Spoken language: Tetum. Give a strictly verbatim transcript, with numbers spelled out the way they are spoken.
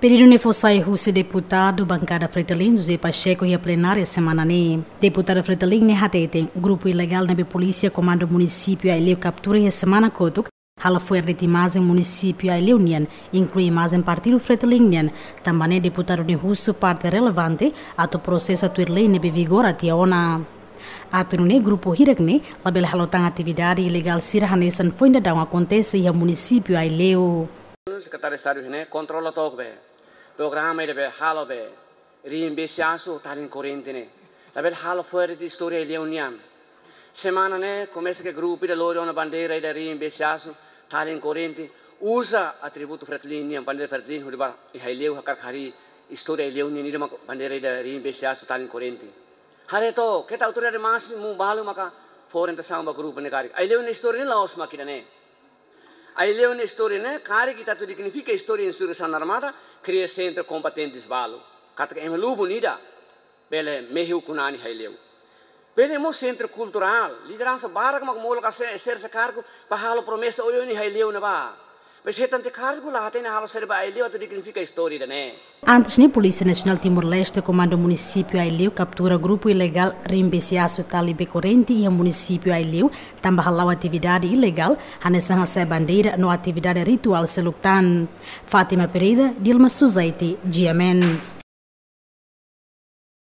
Pedidu ne'e fó sai husi deputadu bankada Fretilin, José Pacheco, iha plenária semana ne'e. Deputadu Fretilin ne'e hateten, grupu ilegál ne'ebé polísia Komandu Munisípiu Aileu kaptura iha semana kotuk, halo fo'er de'it imajen munisípiu Aileu nian, inklui imajen partidu Fretilin nian, tanba ne'e deputadu ne'e husu parte relevante atu prosesa tuir lei ne'ebé vigora tiha ona. Atu nune'e grupu hirak ne'e labele halo tan atividade ilegál sira hanesan foin daudaun akontese iha munisípiu Aileu. Sekretáriu Estadu ne'e kontrola took be programa ida be halo be riin besi asu talin korrente ne'e. Labele halo fo'er de'it istória Aileu nian. Semana ne'e komesa ke grupu ida lori ona bandeira ida riin besi asu talin korrente, uza atributu Fretilin nian, bandeira Fretilin hodi ba iha Aileu hakarak harii istória Aileu nian, ida mak bandeira ida riin besi asu talin korrente. Haree took, keta autoridade másimu balu maka fó orientasaun ba grupu ne'e karik. Aileu nia istória ne'e la'ós mak ida-ne'e. Aileu nia istória ne'e karik ita atu dignifika istória insurreisaun armada, kria sentru kombatentes balu. Katak ema lubun ida bele mehi ukun-na'in iha Aileu. Bele mós sentru kulturál, lideransa barak mak molok ka se-, ser se kargu para halo promesa oioin iha Aileu ne'ebá. Maibé hetan tiha kargu la hatene halo saida ba Aileu atu dignifika istória ida-ne'e. Antes ne'e, Polísia Nasionál Timor-Leste, Komandu Munisípiu Aileu, kaptura grupu ilegál riin besi asu talin korrente iha munisípiu Aileu, tanba hala'o atividade ilegál, hanesan hasa'e bandeira no atividade rituál seluk tan. Fátima Pereira, Dilma Suzaiti, G M N.